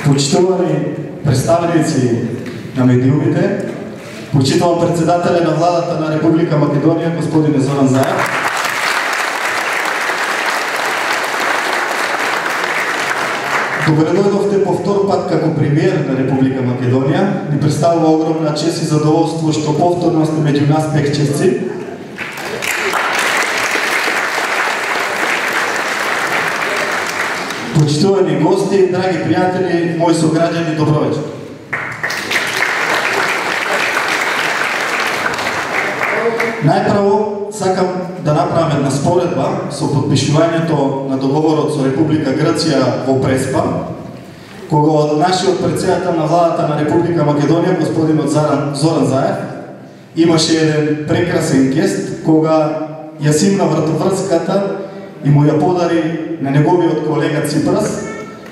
почитувани представници на медиумите, почитувам председателя на владата на Република Македонија, господин Зоран Заев, добре дојдовте по втор пат како премиер на Република Македонија. Ни представува огромна чест и задоволство што повторно сте меѓу нас пехчевци. Почитувани гости, драги пријатели, мои сограѓани, добро вечер. Најпрво сакам да направам една споредба со подпишувањето на договорот со Република Грција во Преспа, кога од нашиот председател на владата на Република Македонија, господинот Зоран Заев, имаше еден прекрасен гест, кога ја симна вратоврската и му ја подари на неговиот колега Ципрас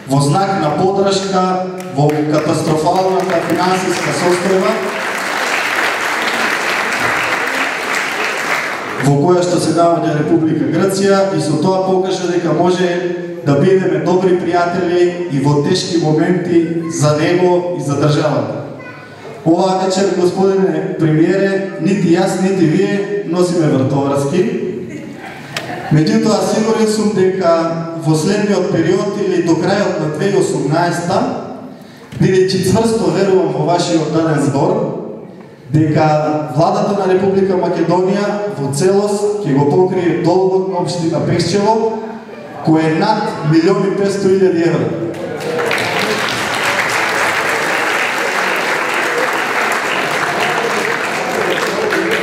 во знак на поддршка во катастрофалната финансиска состојба во која што се наоѓа Република Грција, и со тоа покажа дека може да бидеме добри пријатели и во тешки моменти за него и за државата. Оваа вечер, господине премиере, нити јас, нити вие носиме вратоврски. Меѓутоа, сигурен сум дека во следниот период или до крајот на 2018, бидејќи цврсто верувам во вашиот даден збор, дека владата на Република Македонија во целост ќе го покрие долгот на општина Пехчево, кој е над 1.500.000 евра.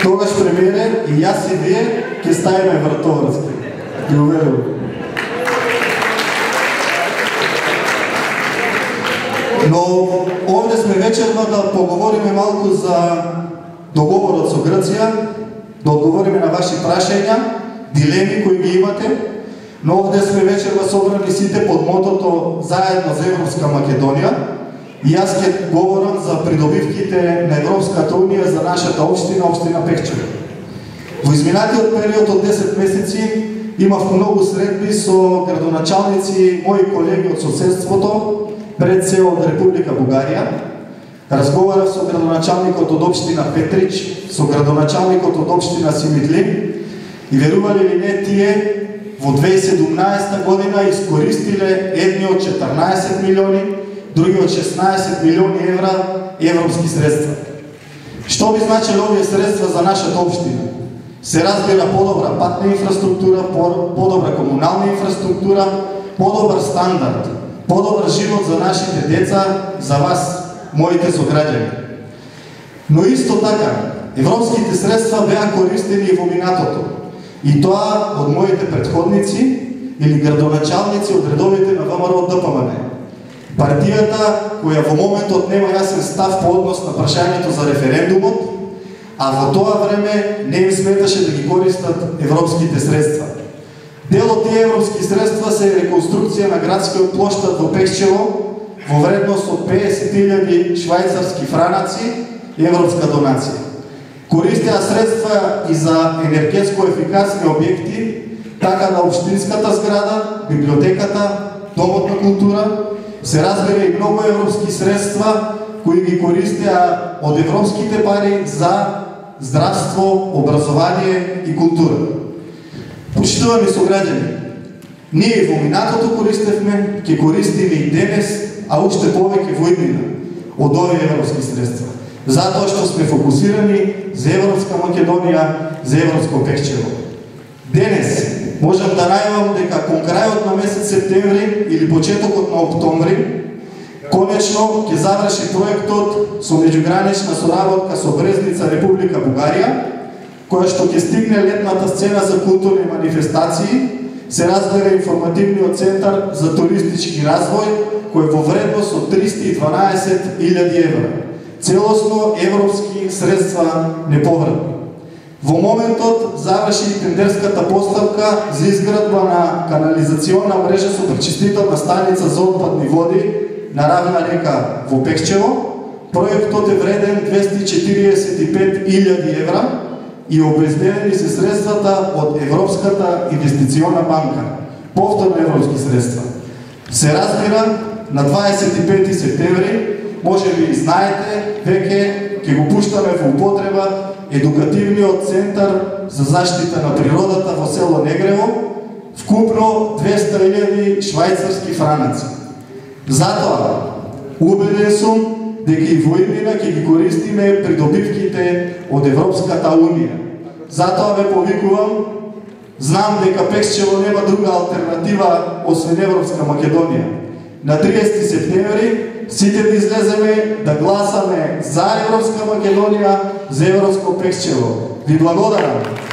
Тогаш, премиере, и јас и вие ќе ставиме вратоврски. Ги уверувам. Но овде сме вечерно да поговориме малку за договорот со Грција, да одговориме на ваши прашања, дилеми кои ги имате, но овде сме вечерно собрани сите под мотото заедно за Европска Македонија, и јас ќе говорам за придобивките на Европската Унија за нашата општина, општина Пехчево. Во изминатиот период од 10 месеци имав многу средби со градоначалници, мои колеги од соседството, пред се од Република Бугарија. Разговарав со градоначалникот од општина Петрич, со градоначалникот од општина Симитлин, и верували ли не, тие во 2017 година искористиле едни од 14 милиони, други од 16 милиони евра европски средства. Што би значило овие средства за нашата општина? Се разбира подобра патна инфраструктура, подобра комунална инфраструктура, подобар стандард, подобар живот за нашите деца, за вас, моите сограѓани. Но исто така, европските средства беа користени и во минатото. И тоа од моите предходници или градоначалници од редовите на ВМРО ДПМН. Партијата која во моментот нема јасен став по однос на прашањето за референдумот, а во тоа време не им сметаше да ги користат европските средства. Дел од тие европски средства се реконструкција на градскиот плоштад во Пехчево во вредност од 50.000 швајцарски франаци и европска донација. Користеа средства и за енергетско ефикасни објекти, така на општинската зграда, библиотеката, домот на култура, се разбира и многу европски средства кои ги користеа од европските пари за здравство, образование и култура. Почитувани сограѓани, ние во минатото користевме, ќе користиме и денес, а уште повеќе во иднина од овие европски средства. Затоа што сме фокусирани за Европска Македонија, за Европско Пехчево. Денес можам да најавам дека кон крајот на месец септември или почетокот на октомври, конечно ќе заврши проектот со меѓугранична соработка со Брезница, Република Бугарија, која што ќе стигне летната сцена за културни манифестации, се разбира информативниот центар за туристички развој, кој во вредност од 312.000 евра. Целосно европски средства неповратни. Во моментот заврши и тендерската поставка за изградба на канализационна мрежа со пречистителна станица за отпадни води на равна река во Пехчево. Проектот е вреден 245.000 евра и обезбедени се средствата од Европската инвестициона банка. Повторно европски средства. Се разбира, на 25 септември, може би знаете, веќе ќе го пуштаме во употреба едукативниот центар за заштита на природата во село Негрево, вкупно 200.000 швајцарски франаци. Затоа, убеден сум дека и во иднина ќе ги користиме придобивките од Европската Унија. Затоа ве повикувам, знам дека Пекчево нема друга алтернатива освен Европска Македонија. На 30 септември сите да излеземе да гласаме за Европска Македонија, за Европско Пекчево. Ви благодарам.